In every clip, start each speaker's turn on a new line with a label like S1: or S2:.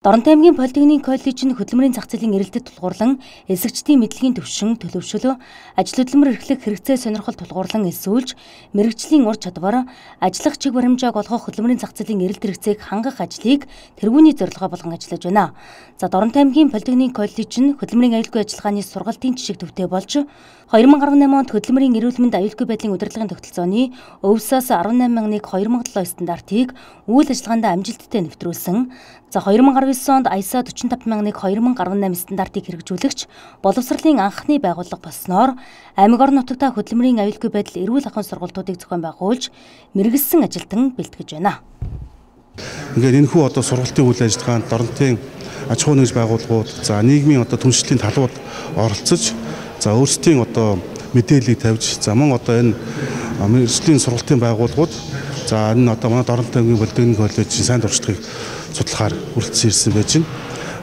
S1: Доронтой аймгийн Политехник коллежийн хөдөлмөрийн зах зээлийн эрэлтэд тулгуурлан эсэгчдийн мэдлэгийн төвшин төлөвшөл, ажил хөдөлмөр эрхлэх хэрэгцээ сонирхол тулгуурлан элсүүлж, мэрэгжлийн ур чадвар, ажиллах чиг баримжааг олгох хөдөлмөрийн зах зээлийн эрэлт хэрэгцээг хангах ажлыг тэргүүний зорилгоо болгон ажиллаж байна. За Доронтой аймгийн Политехник коллежийн хөдөлмөрийн аюулгүй ажиллагааны сургалтын жишг төвтэй болж 2018 онд хөдөлмөрийн эрүүл мэнд аюулгүй байдлын удирдлагын тогтолцооны өвсөөс 18,000-2007 стандартыг үйл ажиллагаанд амжилттай нэвтрүүлсэн. За 2019 онд АЯСа 45,000-2018 стандартыг хэрэгжүүлэгч боловсролын анхны байгууллага болсноор аймаг орон нутагта хөдөлмөрийн аюулгүй байдал эрүүл ахуйн сургалтуудыг зохион байгуулж мэргэжсэн ажилтан бэлтгэж байна.
S2: Ингээд энэ хүү сургалтын үйл ажиллагаанд Доронтын аж ахуй нэгж байгууллагууд, за нийгмийн түншлэлийн талууд оролцож, за өөрсдийн мэдээллийг тавьж, за мөн энэ мэргэжлийн сургалтын байгууллагууд, за энэ манай Доронтой аймгийн Политехник коллежийн сайн туршлагыг судлахаар хүрэлцэн ирсэн байж байна.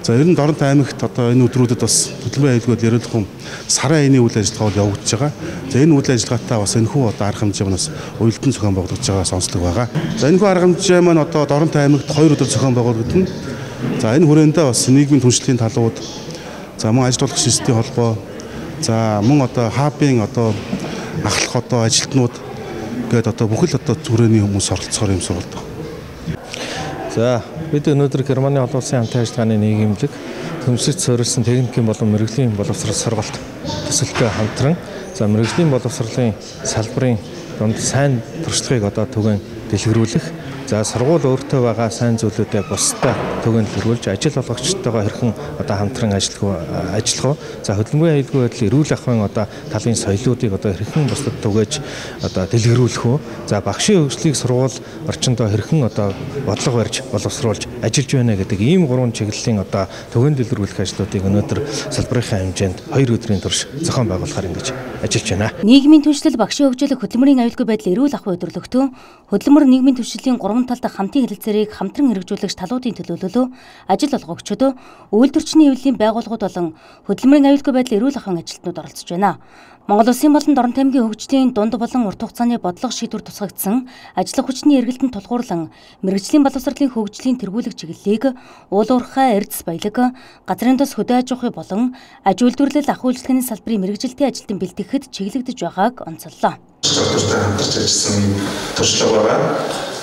S2: За ер нь Доронтой аймагт энэ өдрүүдэд бас хөдөлмөрийн аюулгүй ерөнхөн сарын аяны үйл ажиллагаа явагдаж байгаа. За энэ үйл ажиллагаатай бас энэхүү арга хэмжээ манаас уялдан зохион байгуулагдаж байгаа сонслог байгаа. За энэхүү арга хэмжээ маань Доронтой аймагт 2 өдөр зохион байгуулагдана. За энэ хүрээндээ бас нийгмийн түншлэлийн талууд, за мөн ажил олгох системийн холбоо, за мөн хабын ахлах ажилтнууд гээд бүхэл хүрээний хүмүүс оролцохоор юм сургалт.
S3: За бид өнөөдөр Германы олон улсын хамтын ажиллагааны нийгэмлэг төмсөж суурилсан техникийн болон мэрэгжлийн боловсрол сургалт төсөлтөд хамтран за мэрэгжлийн боловсролын салбарын донд сайн туршлагыг түгээн дэлгэрүүлэх, за сургууль өөртөө байгаа сайн зүйлүүдээ бусдад түгээн дэлгэрүүлж ажил олгогчтойгоо хэрхэн хамтран ажиллах, за хөдөлмөрийн аюулгүй байдлын эрүүл ахуйн талын соёлоодыг хэрхэн бусдад түгээж дэлгэрүүлэх үү, за багшийн хөгжлийг сургууль орчиндөө хэрхэн бодлого барьж боловсруулж ажиллаж байна гэдэг ийм 3 чиглэлийн түгээн дэлгэрүүлэх ажлуудыг өнөөдөр салбарынхаа хэмжээнд 2 өдрийн турш зохион байгуулахаар ингэж ажиллаж байна.
S1: Нийгмийн түншлэл, багшийн хөгжлөх, хөдөлмөрийн аюулгүй байдлын эрүүл ахуй өдөрлөгтөө хөдөлмөр нийгмийн түншлэлийн 3 талд хамтын хэлэлцээрийг хамтран хэрэгжүүлэгч талуудын төлөөлөлөө ажил олгогчдод, үйлдвэрчний хэвлэлийн байгууллагууд болон хөдөлмөрийн аюулгүй байдлын эрүүл ахуйн ажилтнууд оролцож байна. Монгол Улсын болон Доронтой аймгийн хөгжлийн дунд болон урт хугацааны бодлого шийдвэр тусгагдсан ажиллах хүчний эргэлтэнд тулгуурлан мэрэгжлийн боловсролын хөгжлийн тэргүүлэх чиглэлийг уул уурхай, эрдэс баялаг, газрын тос хөдөө аж ахуй болон аж үйлдвэрлэл ах үйлчлэгээний салбарын мэрэгжилтийн ажилтан бэлтгэхэд чиглэгдэж байгааг онцоллоо.
S4: Хамтарч ажилласан туршлага байгаа.